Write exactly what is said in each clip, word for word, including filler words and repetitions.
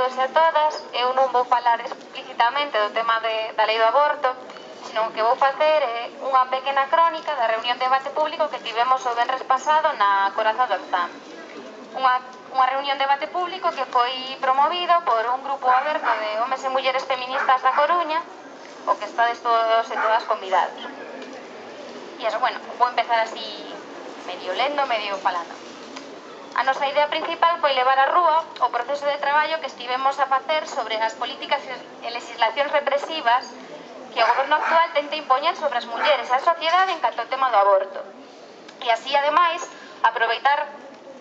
todos e a todas. Eu non vou falar explícitamente do tema de, da lei do aborto, senón que vou facer é unha pequena crónica da reunión de debate público que tivemos o venres pasado na Corazón do Orzán. Unha, unha reunión de debate público que foi promovido por un grupo aberto de homes e mulleres feministas da Coruña, o que estades todos e todas convidados. E eso, bueno, vou empezar así medio lendo, medio falando. A nosa idea principal foi levar a rúa o proceso de traballo que estivemos a facer sobre as políticas e legislacións represivas que o goberno actual tenta impoñer sobre as mulleres e a sociedade en canto ao tema do aborto. E así, ademais, aproveitar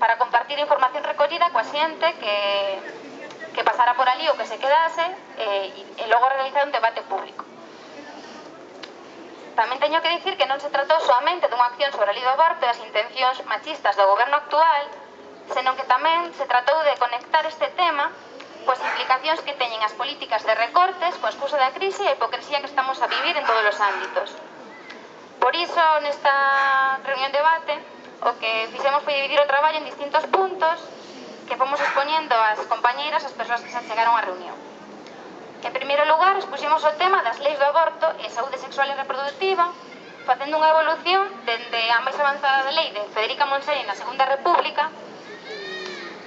para compartir información recollida coa xente que, que pasara por ali ou que se quedase e, e logo realizar un debate público. Tamén teño que dicir que non se tratou soamente dunha acción sobre a lei do aborto e as intencións machistas do goberno actual, senón que tamén se tratou de conectar este tema coas implicacións que teñen as políticas de recortes coa excusa da crise e a hipocresía que estamos a vivir en todos os ámbitos. Por iso, nesta reunión de debate, o que fixemos foi dividir o traballo en distintos puntos que fomos expoñendo as compañeiras, as persoas que se chegaron á reunión. En primeiro lugar, expuxemos o tema das leis do aborto e saúde sexual e reproductiva, facendo unha evolución dende a máis avanzada da lei de Federica Montseny na Segunda República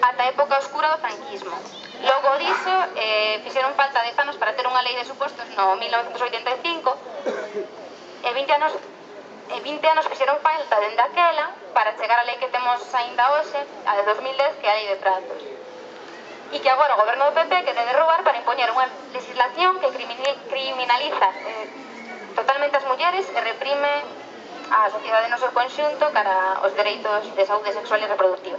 ata a época oscura do franquismo. Logo diso, eh, fixeron falta dez anos para ter unha lei de supostos no mil novecentos oitenta e cinco e vinte anos, e vinte anos fixeron falta dende aquela para chegar á lei que temos aínda hoxe, a de dos mil dez, que é a lei de trazos. E que agora o goberno do P P quere derrubar para impoñer unha legislación que criminaliza eh, totalmente as mulleres e reprime a sociedade no seu conxunto cara aos dereitos de saúde sexual e reproductiva.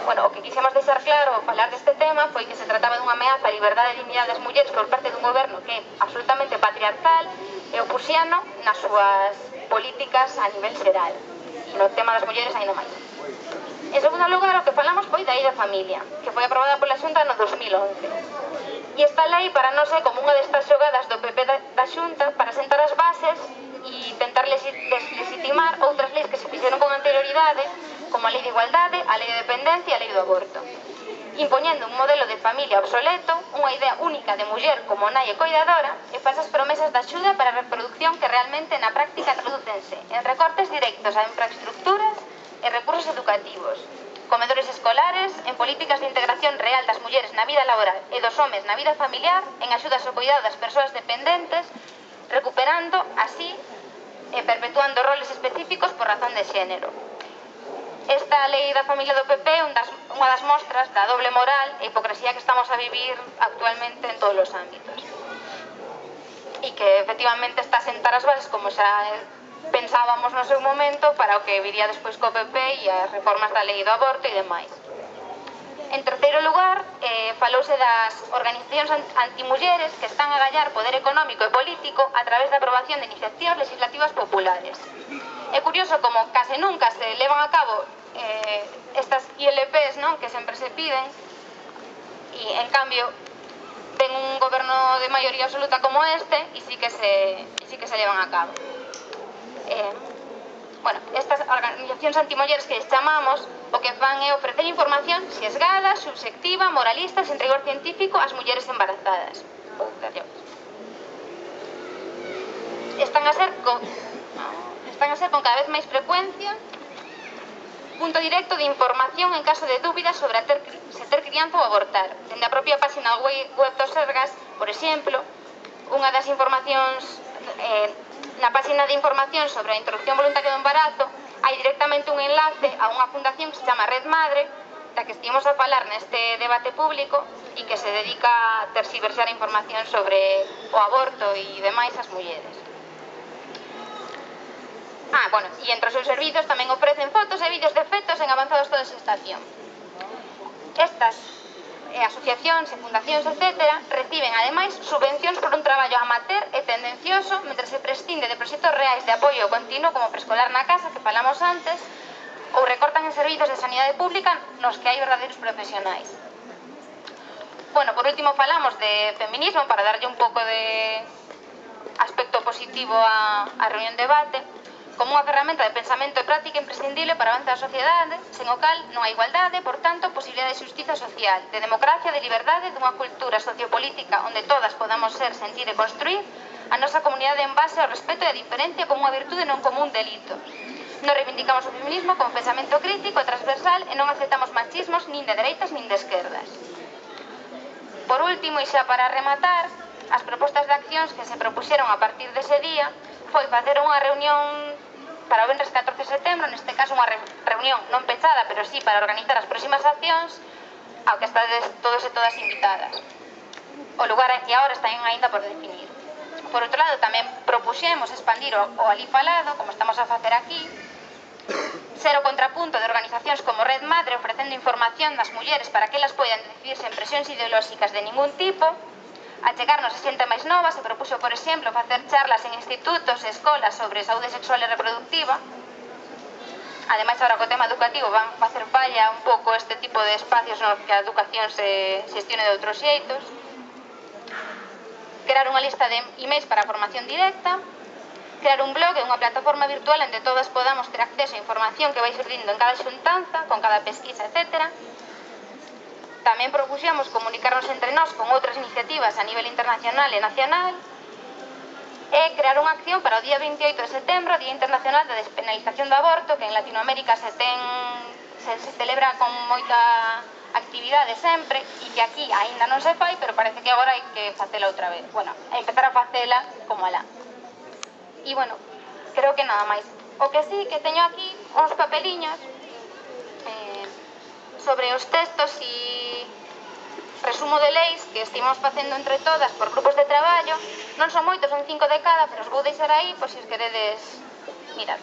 Bueno, o que quixemos deixar claro ao falar deste tema foi que se trataba dunha ameaza á liberdade e dignidade das mulleres por parte dun goberno que é absolutamente patriarcal e opuxiano nas súas políticas a nivel xeral. E no tema das mulleres ainda máis. En segundo lugar, o que falamos foi da lei da familia, que foi aprobada pola Xunta no dos mil once. E esta lei para nós é como unha destas xogadas do P P da, da Xunta para sentar as bases e tentar deslegitimar outras leis que se fixeron con anterioridade, como a lei de igualdade, a lei de dependencia e a lei do aborto, impoñendo un modelo de familia obsoleto, unha idea única de muller como nai e coidadora e falsas promesas de axuda para a reproducción que realmente na práctica tradúcense en recortes directos a infraestructuras e recursos educativos, comedores escolares, en políticas de integración real das mulleres na vida laboral e dos homes na vida familiar, en axudas ao cuidado das persoas dependentes, recuperando así e perpetuando roles específicos por razón de xénero. Esta lei da familia do P P é un das, unha das mostras da doble moral e hipocresía que estamos a vivir actualmente en todos os ámbitos. E que efectivamente está a sentar as bases, como xa pensábamos no seu momento, para o que viría despois co P P e as reformas da lei do aborto e demais. En terceiro lugar, eh, falouse das organizacións antimulleres que están a gallar poder económico e político a través da aprobación de iniciativas legislativas populares. É curioso como case nunca se levan a cabo eh, estas I L Ps, non? Que sempre se piden, e en cambio ven un goberno de maioría absoluta como este e sí que se, e sí que se levan a cabo. Eh, bueno, estas organizacións antimulleres que chamamos o que fan é ofrecer información sesgada, subxectiva, moralista, sen rigor científico ás mulleres embarazadas. Están a ser con, están a ser con cada vez máis frecuencia punto directo de información en caso de dúbidas sobre a ter, se ter crianza ou abortar. Dende a propia página web do Sergas, por exemplo, unha das informacións eh, na página de información sobre a interrupción voluntaria do embarazo hai directamente un enlace a unha fundación que se chama Red Madre, da que estivemos a falar neste debate público e que se dedica a terxiversar a información sobre o aborto e demais as mulleres. Ah, bueno, e entre os seus servizos tamén ofrecen fotos e vídeos de fetos en avanzado estado de gestación. Estas e asociacións e fundacións, etcétera, reciben, ademais, subvencións por un traballo amateur e tendencioso, mentre se prescinde de proxectos reais de apoio continuo como preescolar na casa, que falamos antes, ou recortan en servizos de sanidade pública nos que hai verdadeiros profesionais. Bueno, por último falamos de feminismo, para darlle un pouco de aspecto positivo á, á reunión de debate. como unha ferramenta de pensamento e práctica imprescindible para avanzar a sociedade, sen o cal non hai igualdade, por tanto, posibilidade de xustiza social, de democracia, de liberdade, dunha cultura sociopolítica onde todas podamos ser, sentir e construir a nosa comunidade en base ao respeto e a diferencia como unha virtude non como un delito. Non reivindicamos o feminismo como pensamento crítico e transversal e non aceptamos machismos nin de dereitas nin de esquerdas. Por último, e xa para rematar, as propostas de accións que se propuxeron a partir dese día foi facer unha reunión para o venres catorce de setembro, neste caso unha reunión non pechada, pero sí para organizar as próximas accións, ao que estades todos e todas invitadas. O lugar e a hora están aínda por definir. Por outro lado, tamén propuxemos expandir o, o alí falado, como estamos a facer aquí, ser o contrapunto de organizacións como Red Madre ofrecendo información das mulleres para que elas poidan decidir sen presións ideolóxicas de ningún tipo, achegarnos a xente máis nova. Se propuxo, por exemplo, facer charlas en institutos e escolas sobre saúde sexual e reproductiva. Ademais, agora co tema educativo van facer falla un pouco este tipo de espacios no que a educación se xestione de outros xeitos. Crear unha lista de emails para a formación directa, crear un blog e unha plataforma virtual onde todas podamos ter acceso a información que vai surdindo en cada xuntanza, con cada pesquisa, etcétera. Tamén propuxemos comunicarnos entre nós con outras iniciativas a nivel internacional e nacional e crear unha acción para o día veintioito de setembro, Día Internacional da Despenalización do Aborto, que en Latinoamérica se ten se, se celebra con moita actividade sempre e que aquí aínda non se fai, pero parece que agora hai que facela outra vez. Bueno, empezar a facela como alá. E, bueno, creo que nada máis. O que sí, que teño aquí uns papeliños eh, sobre os textos e resumo de leis que estimamos facendo entre todas por grupos de traballo. Non son moitos, son cinco de cada, pero os vou deixar aí por se os queredes mirar.